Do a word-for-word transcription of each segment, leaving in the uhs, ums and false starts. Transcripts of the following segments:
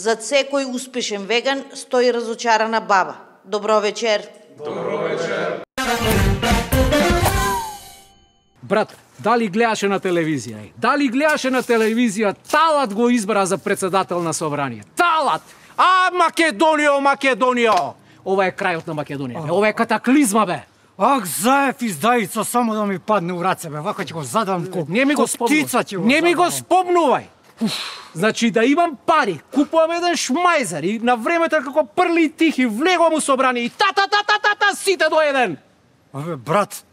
За секој успешен веган стои разочарана баба. Добро вечер. Добро вечер. Брат, дали гледаше на телевизија? Дали гледаше на телевизија Талат го избра за председател на собрание? Талат! А, Македонио, Македонио! Ова е крајот на Македонија. Ова е катаклизма, бе. Ах, заев издајица, само да ми падне у раце, бе. Вака ќе го задам ко Не ми го спомнувај. Не ми го спомнувај. Значи да имам пари, купувам еден шмајзер и на времето како прли и тихи влегувам у собрание и та та та та та та сите до еден. Абе, брат,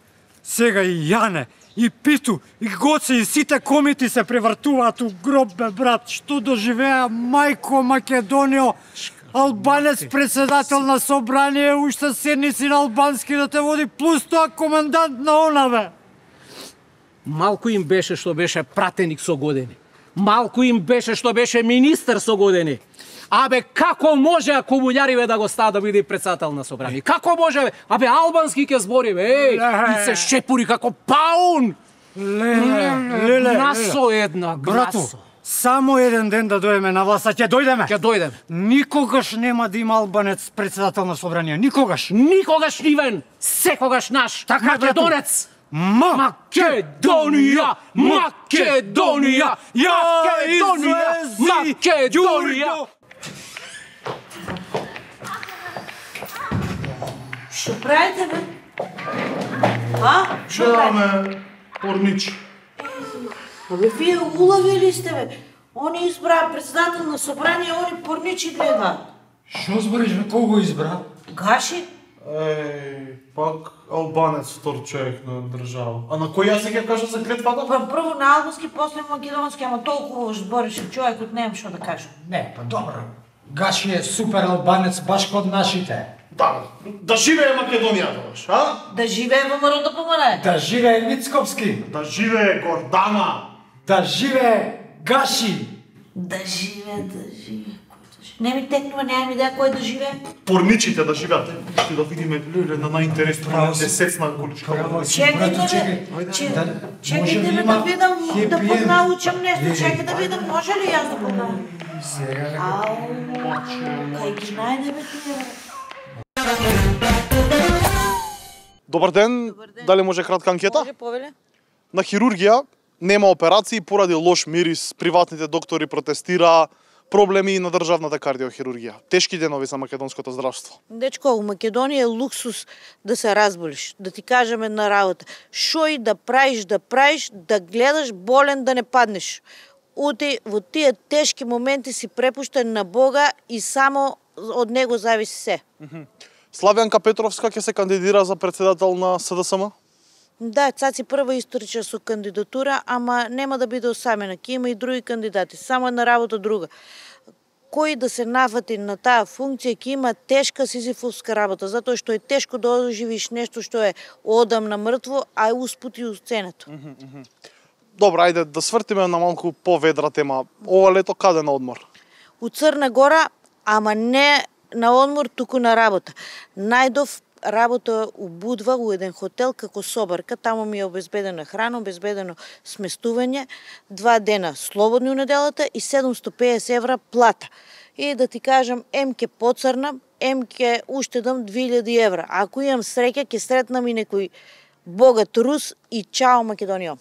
сега и Јане, и Питу, и Гоце, и сите комити се превртуваат у гроб, бе, брат. Што доживеа мајко Македонио, албанец председател на собрание, уште седници на албански да те води, плюс тоа комендант на она, бе. Малку им беше што беше пратеник со години. Малку им беше што беше министер со години. Абе, како може комуњариве да го стават да биде председател на собрание? Како може, бе? Абе, албански ќе збори, бе, еј, и се шепури како паун! Леле, леле, Насо една, Брату, грасо. само еден ден да дојдеме на власт, а ќе дојдеме. Ќе дојдеме. Никогаш нема да има албанец председател на собрание, никогаш. Никогаш нивен, секогаш наш, Така, македонец! Ма, Македонија! Македонија! Македонија! Македонија! Што правите, бе? А? Што правите? Гледаме порничи. Абе, вие улавили сте, бе. Они избра председател на собрание, они порничи гледаат. Што збориш, бе, кого избра? Гаши? Еј, пак албанец втор човек на држава. А на кој јазик ја кажа за клетвата? Па прво на албански, после македонски, ама толку збореше човекот, немам што да кажам. Не, па добро. Гаши е супер албанец, баш код нашите. Да, да живее Македонија, добаш, а? Да живее ВМРО да помане. Да живее Мицковски, Да живее Гордана. да живее Гаши. Да живее, да живее. Кој да живее? Не ми текнува, немам идеја кој да живее. Порничите да живеат. Ще да видиме леле на најинтересно на десетна количка. Чекајте, бе. Че- Чекајте ме да видам, да поднаучам нешто. Чекај да видам, може ли јас да поднаучам? Ау, кај ги најде, бе, тие, бе. Добар ден. Дали може кратка анкета? Може, повеле? На хирургија нема операции поради лош мирис, приватните доктори протестира, проблеми на државната кардиохирургија. Тешки денови за македонското здравство. Дечко, у Македонија е луксус да се разболиш, да ти кажем една работа. Шо и да правиш, да правиш, да гледаш болен да не паднеш. Ути, во тие тешки моменти си препуштен на Бога и само од него зависи се. Славјанка Петровска ќе се кандидира за председател на СДСМ? Да, Цаци прва историчар со кандидатура, ама нема да биде осамена, ќе има и други кандидати, само една работа друга. Кој да се нафати на таа функција ќе има тешка сизифовска работа, затоа што е тешко да оживиш нешто што е одамна мртво, а е успути у сценато. Добро, ајде да свртиме на малку поведра тема. Ова лето каде на одмор? У Црна Гора, ама не на одмор, туку на работа. Најдов работа у Будва, у еден хотел како собарка, таму ми е обезбедена храна, обезбедено сместување, два дена слободни у неделата и седумстотини и педесет евра плата. И да ти кажам, ем ке поцрнам, ем ке уштедам две илјади евра. Ако имам среќа, ке сретнам и некој богат рус и чао Македонија.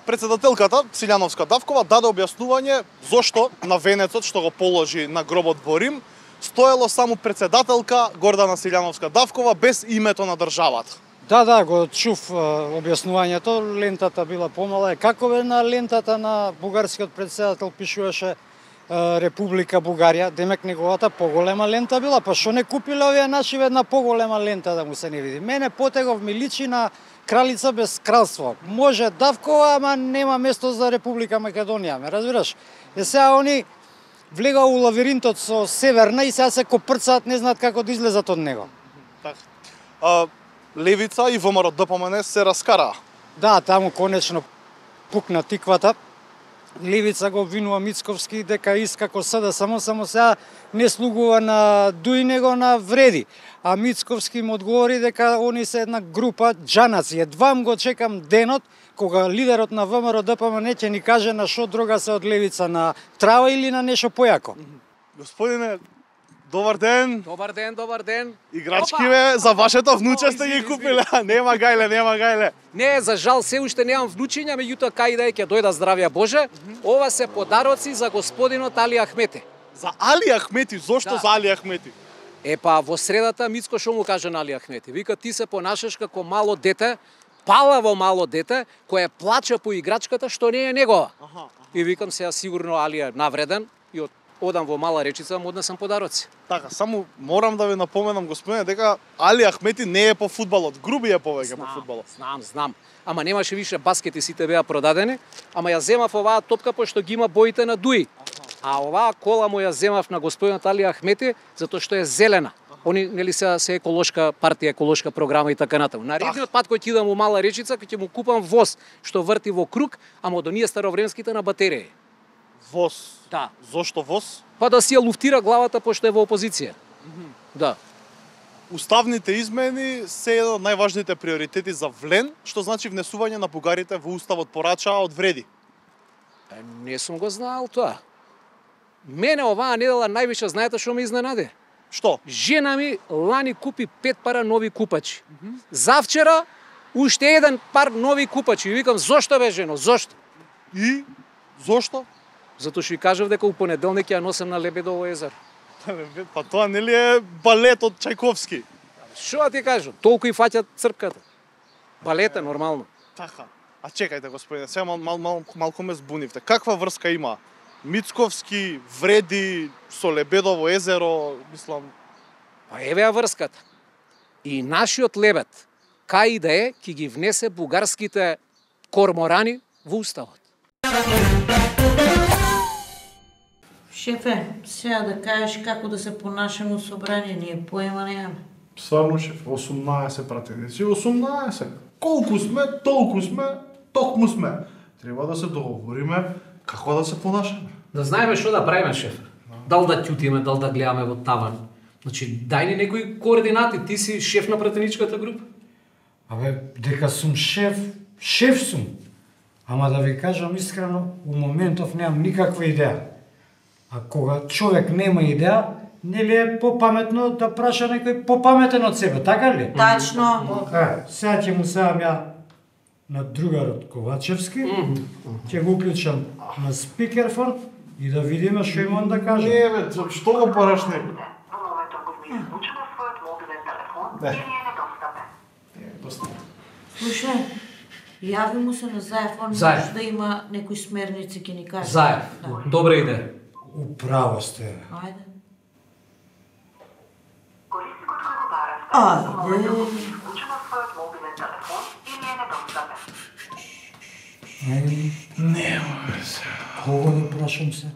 Председателката Силјановска Давкова даде објаснување зошто на венецот што го положи на гробот во Рим стоело само председателка Гордана Силјановска Давкова без името на државата. Да, да, го чув а, објаснувањето, лентата била помала. Како бе на лентата на бугарскиот председател пишуваше а, Република Бугарија, демек неговата поголема лента била, па што не купиле овие наши една поголема лента да му се не види. Мене Потегов ми личи на кралица без кралство. Може Давкова, ама нема место за Република Македонија, ме разбираш? Е сега они влега у лавиринтот со Северна и сега се копрцаат, не знаат како да излезат од него. Така. А, Левица и ВМРО ДПМН се раскараа. Да, таму конечно пукна тиквата. Левица го обвинува Мицковски дека иска како СДСМ, само само сега не слугува на дуј него на вреди. А Мицковски му одговори дека они се една група џанаци. Едвам го чекам денот кога лидерот на ВМРО ДПМН ќе ни каже на што друга се од Левица, на трава или на нешто појако. Господине, добар ден. Добар ден, добар ден. Играчки бе, за вашето внуче сте ги купиле. Нема гајле, нема гајле. Не, за жал се уште немам внучиња, меѓутоа кај да е ќе дојда здравија Боже. Ова се подароци за господинот Али Ахмети. За Али Ахмети, зошто Да. за Али Ахмети? Е па во средата Мицко што му каже на Али Ахмети? Вика ти се понашаш како мало дете, палаво мало дете, кое плаче по играчката што не е негова. Аха. И викам сега сигурно Али е навреден и од одам во Мала Речица, му однесам подароци. Така, само морам да ви напоменам, господине, дека Али Ахмети не е по фудбалот, Груби е повеќе по фудбалот. Знам, знам. Ама немаше више баскети, сите беа продадени, ама ја земав оваа топка пошто ги има боите на Дуи. А оваа кола му ја земав на господинот Али Ахмети затоа што е зелена. Они нели се се еколошка партија, еколошка програма и така натаму. Наредниот пат кој ќе идам во Мала Речица, ќе му купам воз што врти во круг, ама од оние старовремските на батерија. Воз. Да. Зошто воз? Па да си ја луфтира главата пошто е во опозиција. Да. Уставните измени се еден од најважните приоритети за Влен, што значи внесување на бугарите во уставот порачаа од вреди. Е, не сум го знаел тоа. Мене оваа недела највише знаете што ме изненади? Што? Жена ми лани купи пет пара нови купачи. Завчера уште еден пар нови купачи. И викам зошто бе жено, зошто? И зошто? Затоа што и кажав дека у понеделник ја носам на Лебедово езеро. Па тоа нели е балет од Чајковски? Што да ти кажам? Толку и фаќат црпката. Балет е нормално. Така. А чекајте, господине, сега мал, мал, мал, малку ме збунивте. Каква врска има Мицковски, Вреди, со Лебедово езеро, мислам... Па еве ја врската. И нашиот лебед, кај и да е, ќе ги внесе бугарските корморани во уставот. Шефе, сега да кажеш како да се понашаме у собрание, ние поема немаме. Стварно, шеф, осумнаесет пратеници, осумнаесет. Колку сме, толку сме, токму сме. Треба да се договориме како да се понашаме. Да знаеме што да правиме, шеф. Дал да ќутиме, дал да гледаме во таван. Значи, дај ни некои координати, ти си шеф на пратеничката група. Абе, дека сум шеф, шеф сум. Ама да ви кажам искрено, у моментов немам никаква идеја. А кога човек нема идеја, нели е попаметно да праша некој попаметен од себе, така ли? Тачно. Е, сега ќе му сеам ја на другарот Ковачевски, ќе го уклучам на спикерфон и да видиме што имам да кажам. Не, бе, што го параш него? Во моментот го ми излучено својот мобилен телефон Не. или е недостапен. Не, доста. Слушај, јави му се на Заев, он Заев. може да има некои смерници ќе ни каже. Заев, Да. добра идеја. Управо сте. Ајде. Корисникот кој го баравте, А, во моментот го е. ми излучено својот мобилен телефон или е недостапен. Ајде, Нема, бе, се. кого да прашам се?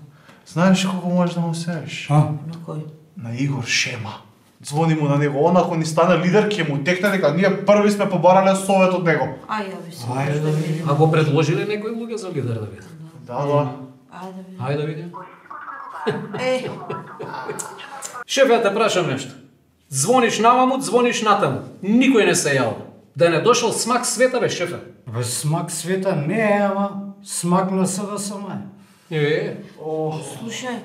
Знаеш колку можеш да му сееш? А? На кој? На Игор Шема. Звони му на него, он ако ни стане лидер, ќе му текне дека ние први сме побарале совет од него. Ај, јави се. Ајде да видиме. А го предложиле некои луѓе за лидер да видам? Да, да. Ајде, види. Хајде да видим. Корисникот кој го баравте, Е, во моментот го ми излучено својот Шеф, ја те прашам нешто. Звониш наваму, звониш натаму. Никој не се јавил. Да не дошол смак света, бе, шефе. Бе, смак света не е, ама смак на СДСМ е. Е, слушај,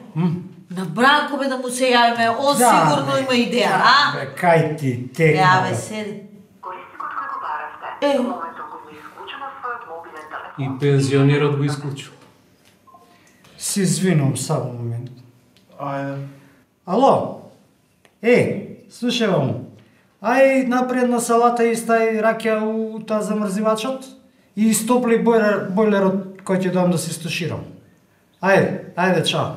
на Бранко бе да му се јавиме, он Да, сигурно бе. има идеја, а? Бе, кај ти текна, Ја, бе, бе. седи. Корисникот кој го баравте, Е. во моментот го ми излучено својот мобилен телефон. и пензионерот го исклучил. Си извинувам само момент. Ајде. Ало? Е, слушај вам. Ај напред на салата и стај раќа у таа замрзивачот и истопли бойлер, бойлерот кој ќе дам да се стуширам. Ајде, ајде, чао.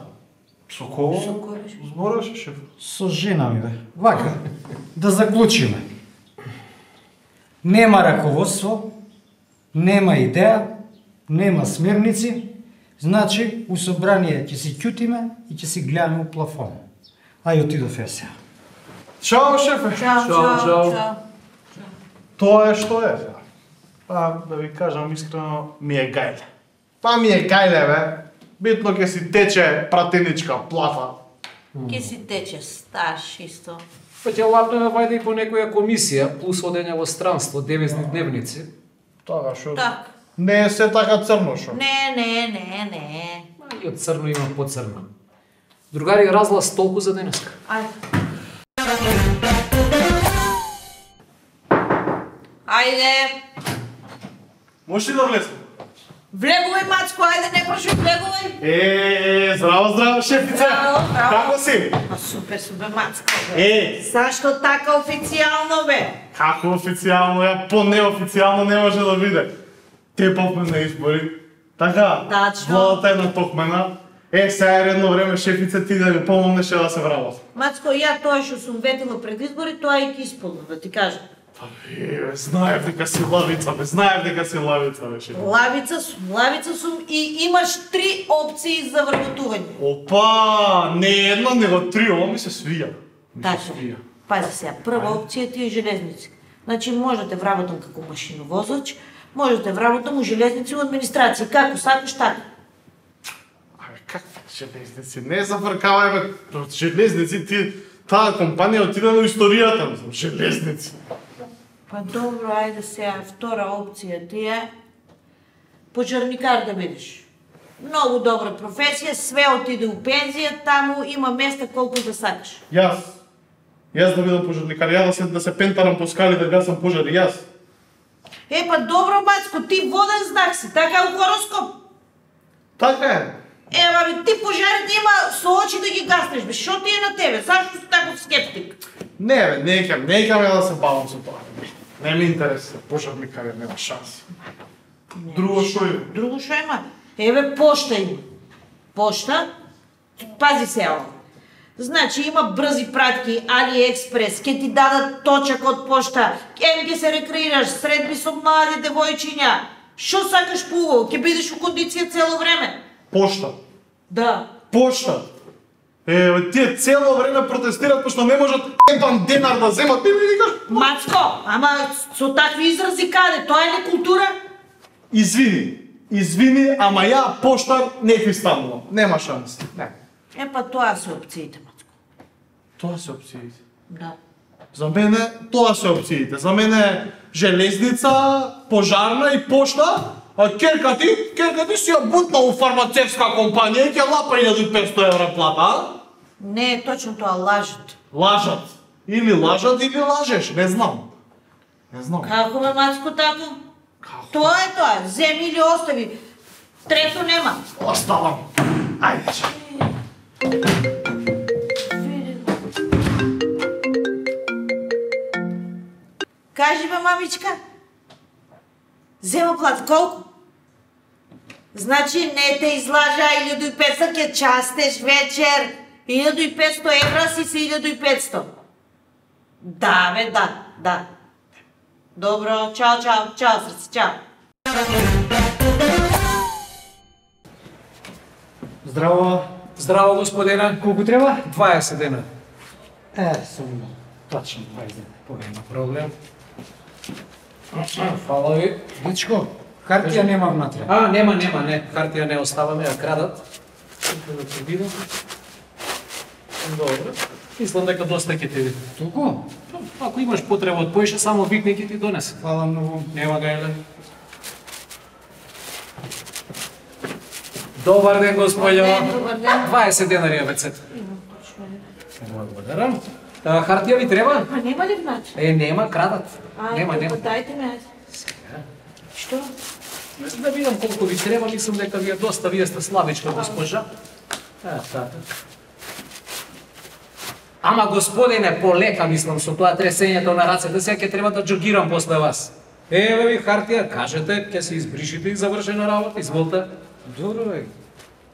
Со кого? Со кој беше? Зборуваше, шеф? Со жена ми, бе. Вака, да заклучиме. Нема раководство, нема идеја, нема смерници, значи у собрание ќе си ќутиме и ќе си гледаме у плафон. Ај отидов ја сега. Чао, шефе. Чао, Чао, чао, чао. чао. Тоа е што е. Па, да ви кажам искрено, ми е гајле. Па ми е гајле, бе. Битно ќе си тече пратеничка плафа. Ке си тече, сташ исто. Па ќе лапнеме вајде и по некоја комисија, плюс одење во странство, девизни дневници. Тоа што Так. не е се така црно шо. Не, не, не, не. Ма и од црно има поцрно. Другари, разлаз толку за денеска. Ајде. Ајде. Можеш ли да влезем? Влегувај, Мацко, ајде, не прашај, влегувај. Е, здраво, здраво, шефице. Здраво, здраво. Како си? А, супер, супер, Мацко, бе. Е, Зашто така официјално, бе? како официјално, ја по-неофицијално не може да биде. Те попме на избори. Така, Тачно. владата е натокмена. Е, сега е редно време, шефице, ти да ми помогнеше да се врабат. Мацко, ја тоа што сум ветила пред избори, тоа и ќе исполнам, да ти кажам. Па, е, бе, знаев дека си лавица, бе, знаев дека си лавица, бе, шефице. Лавица сум, лавица сум и имаш три опции за вработување. Опа, не една, него три, ова ми се свија. Ми се Тачно. свија. Пази сега, прва опција ти е железници. Значи, можете вработам како машиновозач, можете вработам у железници у администрација, како сакаш така. Абе, какви железници? Не зафркавај, бе, железници, ти, таа компанија отиде на историјата, мислам, железници. Па добро, ајде сега, втора опција ти е пожарникар да бидеш. Многу добра професија, све отиде у пензија, таму има места колку да сакаш. Јас. Јас да бидам пожарникар, ја да се, да се пентарам по скали да гасам пожари, јас. Е, па добро, Мацко, ти воден знак си, така е у хороскоп. Така е. Ева, бе, ти пожарите има со очи да ги гаснеш, бе, шо ти е на тебе? Зашто си таков скептик? Не, бе, не кем, не кем ја да се бавам со тоа. Не ми интересира, пожарникар нема шанси. Друго што има? Друго што има? Еве, пошта има. Пошта? Пази се ово. Значи има брзи пратки, Алиекспрес, ке ти дадат точак од пошта, ем ке се рекреираш, средби со млади девојчиња. Шо сакаш пуво? Ке бидеш у кондиција цело време. Пошта. Да. Пошта. Е, бе, тие цело време протестират пошто не можат ебан денар да земат. Ти ми викаш, Мацко, ама со такви изрази каде? Тоа е ли култура? извини, извини, ама ја поштар не ти станувам. Нема шанси. Не. Е, па тоа се опциите, Мацко. Тоа се опциите. Да. За мене тоа се опциите. За мене железница, пожарна и пошта, а керка ти, керка ти си ја бутна у фармацевска компанија и ќе лапа илјада и петсто евра плата, а? Не е точно тоа, лажат. Лажат. Или лажат, или лажеш, не знам. Не знам. Како ме, Мацко, така? Како? Тоа е тоа, земи или остави. Трето нема. Оставам. Ајде, че. Кажи ме, мамичка. Зема плат колку? Значи не те излажа илјада и петсто, ке частеш вечер. илјада и петсто евра си се илјада и петсто. Да, бе, да, да. Добро, чао, чао, чао, срце, чао. Здраво, Здраво, господина. колку треба? дваесет дена. Е, сум точно дваесет. Нема проблем. Фала ви. Дечко, хартија нема внатре. А, нема, нема, не. Хартија не оставаме, ја крадат. Тука да ти видам. Добро. Мислам дека доста ќе ти видам. Толку? Ако имаш потреба од поише, само викни ќе ти донесе. Фала многу. Нема гајле. Добар ден, господјо. Добар ден. дваесет денари е вецет. Благодарам. А, хартија ви треба? Ма нема ли внатре? Е, нема, крадат. Нема, нема. Дајте ме, ајде. Што? Да видам колку ви треба, мислам дека ви е доста, вие сте слабичка госпожа. Е, така. Ама господине, полека мислам со тоа тресењето на рацете, сега ќе треба да џогирам после вас. Еве ви хартија, кажете, ќе се избришите и завршена работа, изволте. Добро бе.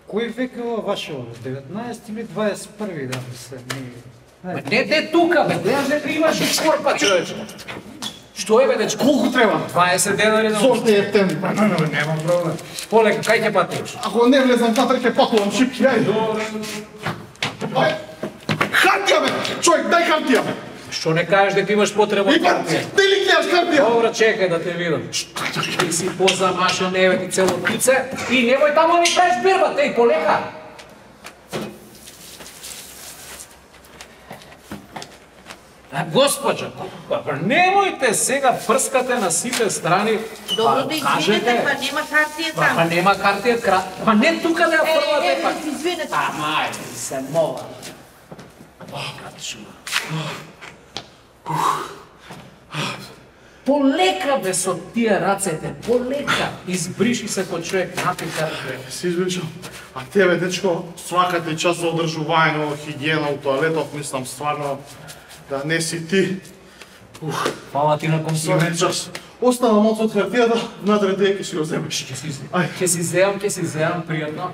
Кој век е ова ваше ова? деветнаесети или дваесет и први да се не. Ма не те тука, бе, гледаш дека имаш и корпа, човече. Што е, бе, дечко? Колку треба? дваесет денари на Зошто е птен? Нема проблем. Полека, кај ќе патиш? Ако не влезам внатре, ќе пакувам шипки, ајде. Ај, хартија, бе! Човек, дај хартија, бе! Што не кажеш дека имаш потреба од Ипа, хартија? ти ли гледаш хартија? Добро, чекај да те видам. Ти си позамашен, еве ти цело пице и немој тамо да ми правиш бирба, теј, полека. А, госпоđo, па немојте сега прскате на сите страни. Добро да извинете, па нема хартија Па, па таму. нема картија кра... Па не тука да ја фрлате, Е, па. е, извинете. Ама, ајде, се мола. Полека бе со тие рацете, полека. Избриши се кој човек, напи картија. Се извинувам. А тебе, дечко, свакате час за одржување, хигиена у тоалетот, мислам стварно да не си ти. Ух, Фала ти на сваки комплимент. час. Остана моц од хартијата, внатре де ќе си го земеш. Ај, Ќе си земам, ќе си земам, пријатно.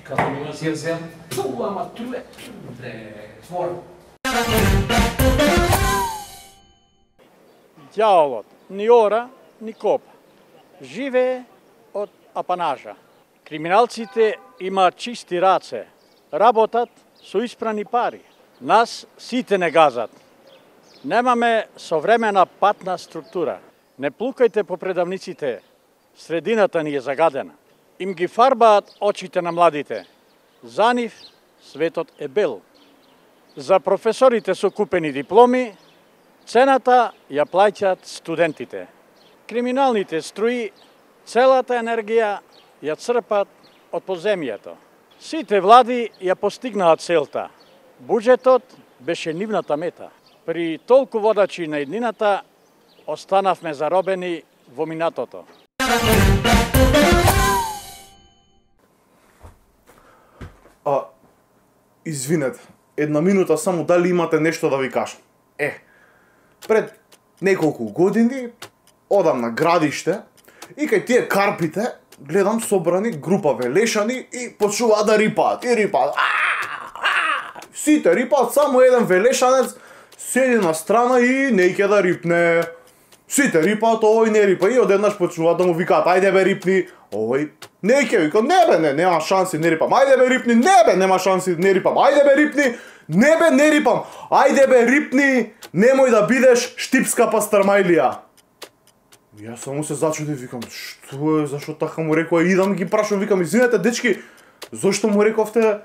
Како ми си ја земам? Ту, ама туле. Де, твор. Ѓаволот ни ора, ни копа. Живее од апанажа. Криминалците имаат чисти раце. Работат со испрани пари. Нас сите не газат. Немаме современа патна структура. Не плукајте по предавниците. Средината ни е загадена. Им ги фарбаат очите на младите. За нив светот е бел. За професорите со купени дипломи, цената ја плаќаат студентите. Криминалните струи целата енергија ја црпат од подземјето. Сите влади ја постигнаат целта. Буџетот беше нивната мета. При толку водачи на еднината останавме заробени во минатото. а, извинете, една минута само дали имате нешто да ви кажам. Е, пред неколку години одам на градиште и кај тие карпите гледам собрани група велешани и почнуваат да рипаат, и рипаат. Сите рипаат, само еден велешанец седи на страна и не ќе да рипне. Сите рипаат, овој не рипа и одеднаш почнуваат да му викаат ајде бе рипни, овој не ќе вика, не бе, не, нема шанси, не рипам, ајде бе рипни, не бе, нема шанси, не рипам, ајде бе рипни, не бе, не рипам, ајде бе рипни, немој да бидеш штипска пастармајлија. Јас само се зачудив, викам, што е, зашо така му рекоа, идам ги прашам, викам, извинете дечки, зошто му рековте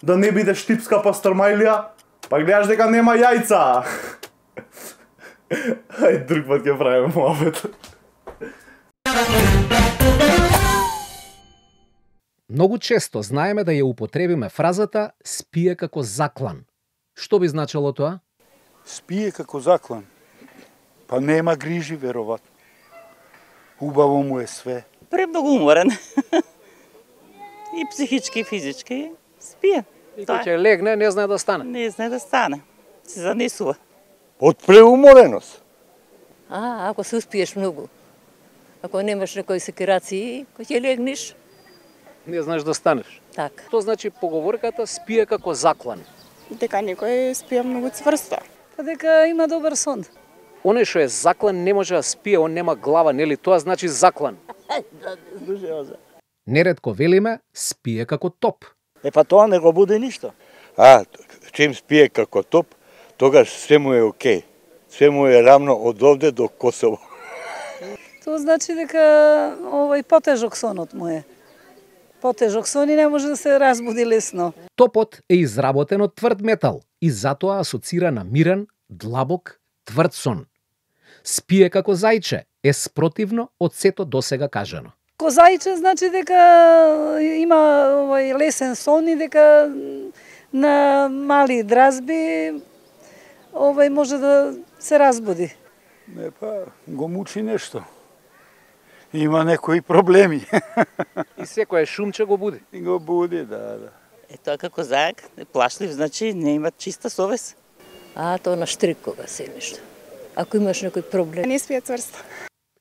да не биде штипска пастармајлија? Па гледаш дека нема јајца. Ај, друг пат ќе правиме муабет. Многу често знаеме да ја употребиме фразата спие како заклан. Што би значило тоа? Спие како заклан. Па нема грижи, вероvatno. Убаво му е све. Премногу уморен. И психички, и физички. Спие. И кој ќе легне, не знае да стане. Не знае да стане. Се занесува. Од преумореност. А, ако се успиеш многу. Ако немаш некои секирации, кој ќе легнеш, Не знаеш да станеш. така. Тоа значи поговорката спие како заклан. Дека некој спие многу цврсто. Па дека има добар сон. Оне што е заклан не може да спие, он нема глава, нели? Тоа значи заклан. Нередко велиме спие како топ. Е па тоа не го буди ништо. А, чим спие како топ, тогаш се му е окей. Се му е рамно од овде до Косово. Тоа значи дека овој потежок сонот му е. Потежок сон и не може да се разбуди лесно. Топот е изработен од тврд метал и затоа асоцира на мирен, длабок, тврд сон. Спие како зајче е спротивно од сето досега кажано. Ко зајче значи дека има овој лесен сон и дека на мали дразби овој може да се разбуди. Не, па, го мучи нешто. Има некои проблеми. И секој шумче го буди. И го буди, да, да. Е тоа како зајак, плашлив, значи не има чиста совест. А, тоа на штрик кога се нешто. Ако имаш некој проблем. Не спие цврсто.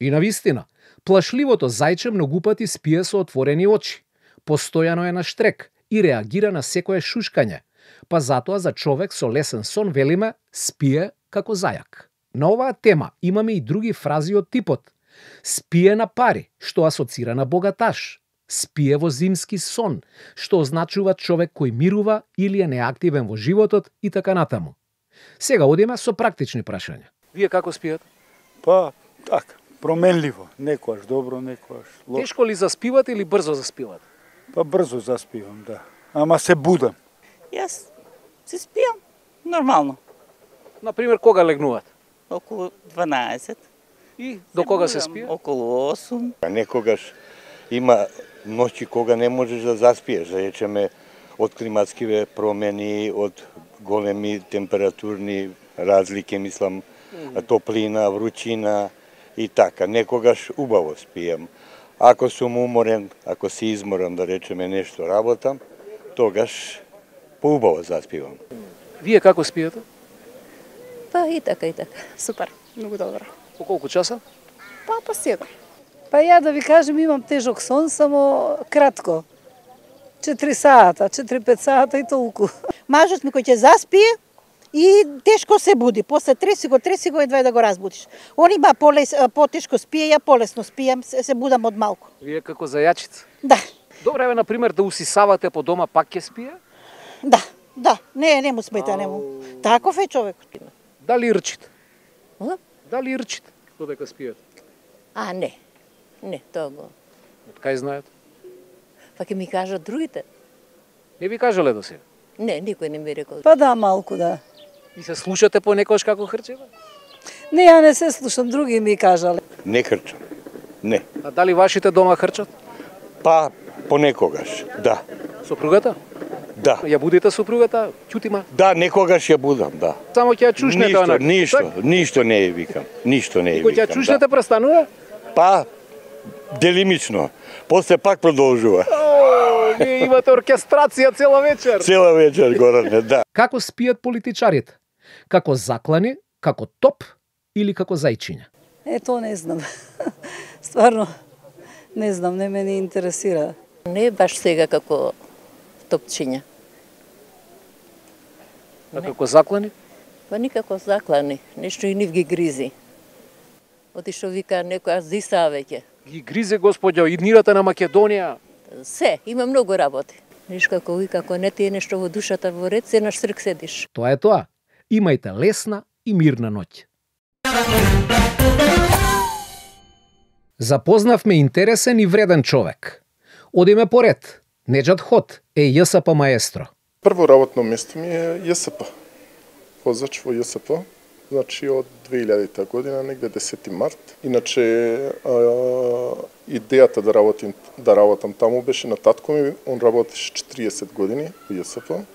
И навистина, плашливото зајче многу пати спие со отворени очи. Постојано е на штрек и реагира на секое шушкање. Па затоа за човек со лесен сон велиме спие како зајак. На оваа тема имаме и други фрази од типот спие на пари, што асоцира на богаташ. Спие во зимски сон, што означува човек кој мирува или е неактивен во животот и така натаму. Сега одиме со практични прашања. Вие како спиете? Па, така, променливо. Некојаш добро, некојаш лошо. Тешко ли заспивате или брзо заспивате? Па брзо заспивам, да. Ама се будам. Јас се спијам нормално. Например, кога легнуваат? Околу дванаесет. И до кога се спие? Околу осум. А некогаш има ноќи кога не можеш да заспиеш, да речеме од климатскиве промени, од големи температурни разлики, мислам, топлина, вручина и така. Некогаш убаво спием. Ако сум уморен, ако си изморен, да речеме нешто работам, тогаш поубаво заспивам. Вие како спиете? Па и така, и така. Супер, многу добро. По колку часа? Па по седум. Па ја да ви кажем, имам тежок сон, само кратко. четири сата, четири-пет сата и толку. Мажот ми кој ќе заспие и тешко се буди. После треси го, треси го едва да го разбудиш. Он има полес, потешко спие, ја полесно спијам, се, се будам од малку. Вие како зајачица? Да. Добре, еве, например, да усисавате по дома, пак ќе спие? Да, да. Не, не му смета, не му. Таков е човекот. Дали рчите? А? Дали рчите додека спиете? А, не. Не, тоа го. Од кај знаете? Па ќе ми кажат другите. Не ви кажале до сега? Не, никој не ми рекол. Па да, малку да. И се слушате понекогаш како хрчева? Не, ја не се слушам, други ми кажале. Не хрчам. Не. А дали вашите дома хрчат? Па понекогаш, да. Сопругата? Да. Ја будите сопругата, ќутима? Да, некогаш ја будам, да. Само ќе ја чушнете ништо, онак. Ништо, Так? ништо не ја викам. Ништо не ја Кога викам. ќе ја чушнете престанува? Па делимично. После пак продолжува. О, вие имате оркестрација цела вечер. Цела вечер горане, да. Како спијат политичарите? Како заклани, како топ или како зајчиња? Е, то не знам. Стварно, не знам, не ме не интересира. Не баш сега како топчиња. А како заклани? Па никако заклани, нешто и нив ги гризи. Оти што вика некоја зиса веќе. Ги гризе, господјо, иднирате на Македонија. Се, има многу работи. Ниш како ви, како не ти е нешто во душата во ред, се наш срк седиш. Тоа е тоа. Имајте лесна и мирна ноќ. Запознавме интересен и вреден човек. Одиме поред. Неџат Ход е ЈСП маестро. Прво работно место ми е ЈСП. Возач во ЈСП. Значи од две илјадета година, негде десети март. Иначе а, идејата да работим да работам таму беше на татко ми, он работеше четириесет години во ЈСП.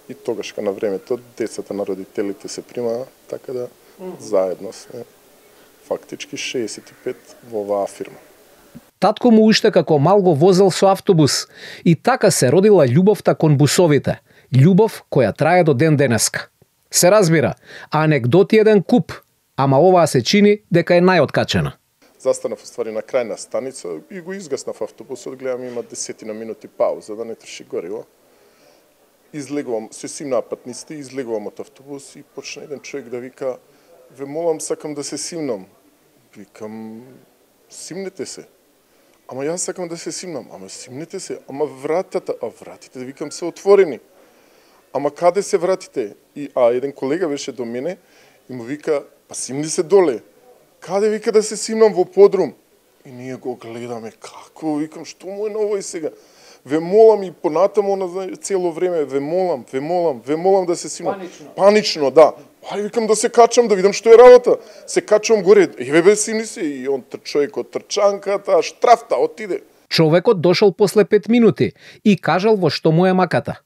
И тогаш на времето децата на родителите се прима, така да заедно сме фактички шеесет и пет во оваа фирма. Татко му уште како мал го возел со автобус и така се родила љубовта кон бусовите. Љубов која трае до ден денеска. Се разбира, анегдоти еден куп, ама оваа се чини дека е најоткачена. Застанав ствари на крајна станица и го изгаснав автобусот, гледам има десетина минути пауза да не троши гориво. Излегувам, се симнаа патниците, излегувам од автобус и почна еден човек да вика: "Ве молам, сакам да се симнам." Викам: "Симнете се." "Ама јас сакам да се симнам." "Ама симнете се." "Ама вратата." "А вратите, викам, се отворени." "Ама каде се вратите?" И а еден колега беше до мене и му вика: "Па симни се доле." "Каде?" Вика: "Да се симнам во подрум." И ние го гледаме како, викам, што му е на овој сега? "Ве молам" и понатаму на цело време, "Ве молам, ве молам, ве молам да се симнам." Панично. Панично, да. Ај, викам, да се качам, да видам што е работа. Се качувам горе, еве бе, симни се, и он човекот трчанката, штрафта, отиде. Човекот дошол после пет минути и кажал во што му е маката.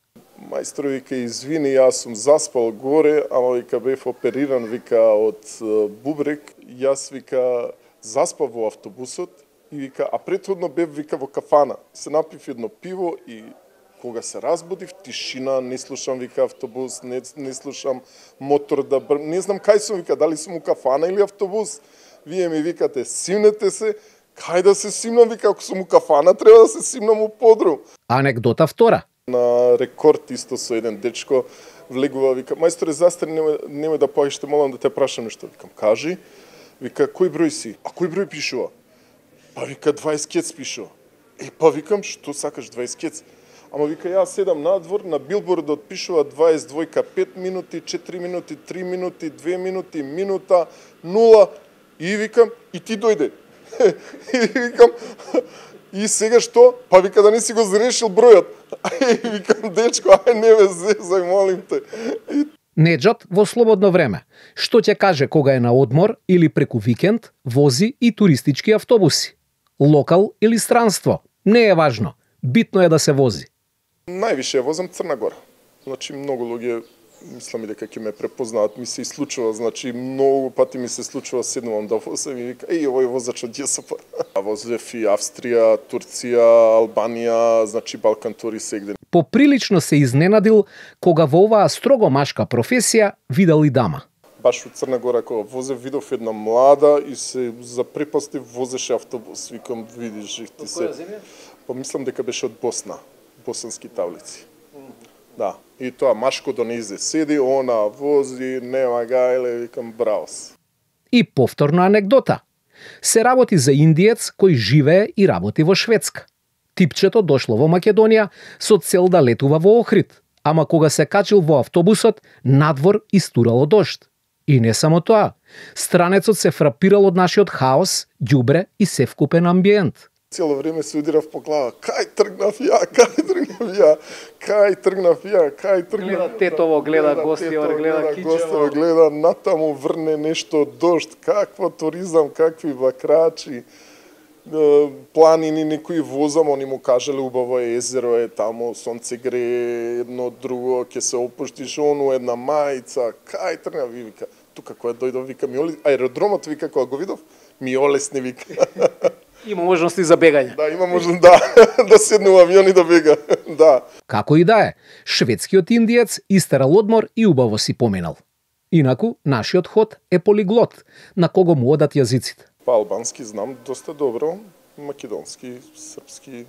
Мајстор вика: "Извини, јас сум заспал горе, ама вика бев опериран, вика, од бубрек. Јас, вика, заспав во автобусот и вика, а претходно бев, вика, во кафана. Се напив едно пиво и кога се разбудив, тишина, не слушам, вика, автобус, не, не слушам мотор да бр... Не знам кај сум, вика, дали сум у кафана или автобус. Вие ми викате, симнете се, кај да се симнам, вика, ако сум у кафана, треба да се симнам у подрум." Анекдота втора. На рекорд исто со еден дечко влегува, вика: "Мајсторе, застани, нема, нема да поиш, те молам да те прашам нешто." Викам: "Кажи." Вика: "Кој број си?" "А кој број пишува?" "Па," вика, "дваесет кец пишува." "Е, па," викам, "што сакаш дваесет кец?" "Ама," вика, "јас седам надвор, на билбордот пишува дваесет двојка пет минути, четири минути, три минути, две минути, минута, нула." И викам: "И ти дојде." И викам: "И сега што?" "Па," вика, "да не си го зарешил бројот." И викам: "Дечко, ај не ме зезај, молим те." И... Неджат во слободно време, што ќе каже кога е на одмор или преку викенд, вози и туристички автобуси. Локал или странство, не е важно, битно е да се вози. Највише возам Црна Гора. Значи многу луѓе мислам и дека ќе ме препознаат, ми се и случува, значи многу пати ми се случува, седнувам да возам и вика, еј, овој возач од џесопа. Возев и Австрија, Турција, Албанија, значи Балкан тури сегде. Поприлично се изненадил кога во оваа строго машка професија видел и дама. Баш во Црна Гора кога возев видов една млада и се запрепастив, возеше автобус. Викам, видиш, ти се. Па мислам дека беше од Босна, босански тавлици. Да, и тоа машко донизе седи, она вози, нема гајле, викам браус. И повторно анекдота. Се работи за индиец кој живее и работи во Шведска. Типчето дошло во Македонија со цел да летува во Охрид, ама кога се качил во автобусот, надвор истурало дожд. И не само тоа, странецот се фрапирал од нашиот хаос, ѓубре и севкупен амбиент. Цело време се удирав по глава, кај тргнав ја, кај тргнав ја, кај тргнав ја, кај тргнав ја. Гледа тетово, гледа гостијар, гледа кичево. Гледа натаму врне нешто дожд, каква туризам, какви бакрачи, планини некои возам, они му кажале убаво е езеро е таму, сонце грее, едно друго, ќе се опуштиш, ону една мајца, кај тргнав и вика, тука која дојдов, вика ми олесни, аеродромот вика кога го видов, ми олесни вика. Има можности за бегање. Да, има можност да, да седне во авион и да бега. Да. Како и да е, шведскиот индиец истерал одмор и убаво си поминал. Инаку, нашиот ход е полиглот, на кого му одат јазиците. Па албански знам доста добро, македонски, српски,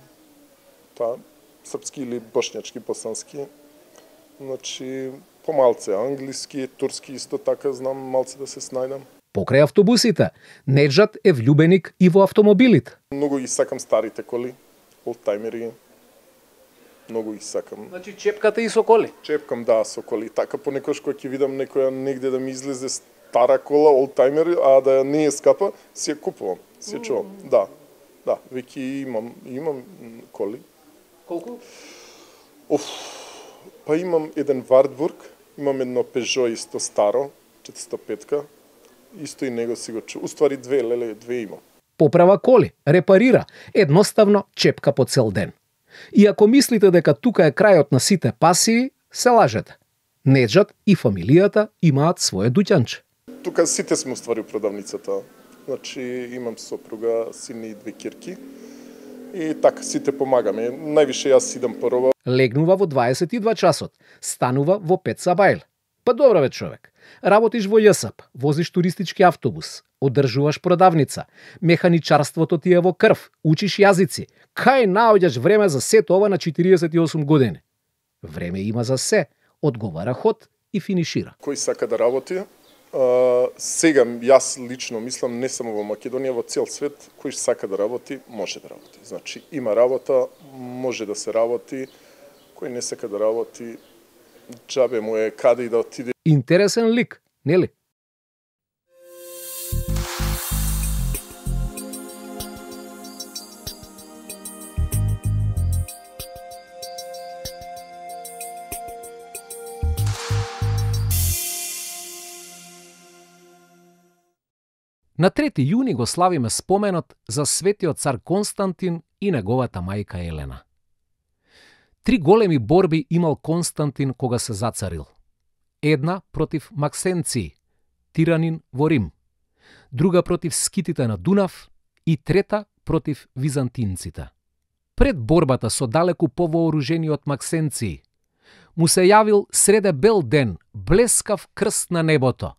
та, српски или бошњачки, босански. Значи, помалце англиски, турски исто така знам, малце да се снајдам. Покрај автобусите, Неджат е влюбеник и во автомобилите. Многу ги сакам старите коли, олдтаймери. Многу ги сакам. Значи чепкате и со коли? Чепкам, да, со коли. Така понекогаш кога ќе видам некоја негде да ми излезе стара кола, олдтаймер, а да не е скапа, си ја купувам, си ја чувам. Mm. Да, да, веќе имам, имам коли. Колку? Оф, па имам еден Вартбург, имам едно Peugeot исто старо, четиристотини и петка. Исто и него си го чу. Уствари две, леле, две имам. Поправа коли, репарира, едноставно чепка по цел ден. И ако мислите дека тука е крајот на сите пасии, се лажете. Неджат и фамилијата имаат свое дуќанче. Тука сите сме уствари продавницата. Значи имам сопруга, син и две кирки. И така сите помагаме. Највише јас идам по роба. Легнува во дваесет и два часот, станува во пет сабајл. Па добро бе човек. Работиш во ЈСАП, возиш туристички автобус, одржуваш продавница, механичарството ти е во крв, учиш јазици. Кај наоѓаш време за сето ова на четириесет и осум години? Време има за се, одговара ход и финишира. Кој сака да работи, а, сега јас лично мислам не само во Македонија, во цел свет, кој сака да работи, може да работи. Значи има работа, може да се работи, кој не сака да работи, џабе му е каде и да отиде. Интересен лик, нели? На трети јуни го славиме споменот за светиот цар Константин и неговата мајка Елена. Три големи борби имал Константин кога се зацарил. Една против Максенци, тиранин во Рим, друга против скитите на Дунав и трета против византинците. Пред борбата со далеку повооружениот Максенци, му се јавил среде бел ден блескав крст на небото,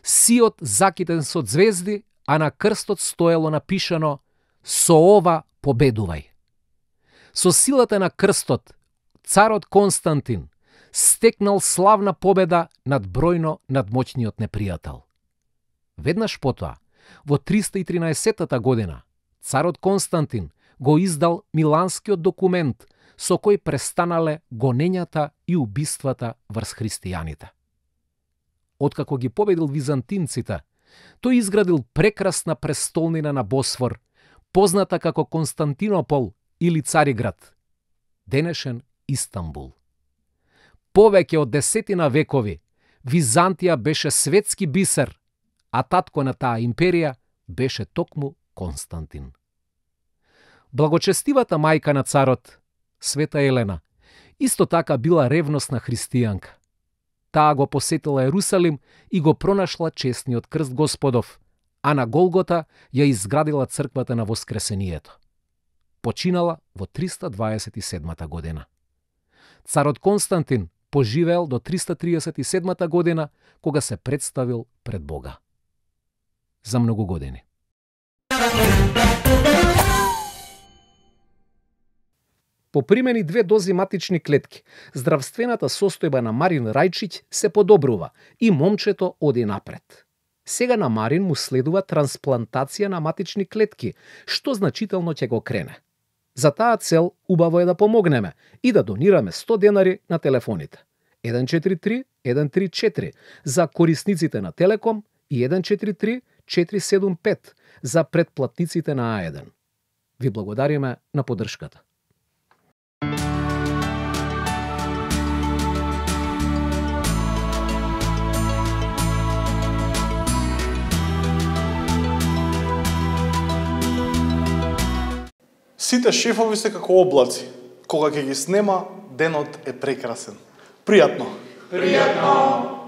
сиот закитен со звезди, а на крстот стоело напишано «Со ова победувај». Со силата на крстот, царот Константин стекнал славна победа над бројно надмоćниот непријател. Веднаш потоа, во триста и тринаесеттата година, царот Константин го издал Миланскиот документ со кој престанале гонењата и убиствата врз христијаните. Откако ги победил византинците, тој изградил прекрасна престолнина на Босфор, позната како Константинопол или Цариград, денешен Истанбул. Повеќе од десетина векови, Византија беше светски бисер, а татко на таа империја беше токму Константин. Благочестивата мајка на царот, Света Елена, исто така била ревносна христијанка. Таа го посетила Ерусалим и го пронашла честниот крст Господов, а на Голгота ја изградила црквата на Воскресението. Починала во триста дваесет и седмата година. Царот Константин поживеел до триста триесет и седмата година, кога се представил пред Бога. За многу години. По примени две дози матични клетки, здравствената состојба на Марин Рајчиќ се подобрува и момчето оди напред. Сега на Марин му следува трансплантација на матични клетки, што значително ќе го крене. За таа цел убаво е да помогнеме и да донираме сто денари на телефоните. еден четири три еден три четири за корисниците на Телеком и еден четири три четири седум пет за претплатниците на А еден. Ви благодариме на поддршката. Сите шефови се како облаци. Кога ќе ги снема, денот е прекрасен. Пријатно! Пријатно!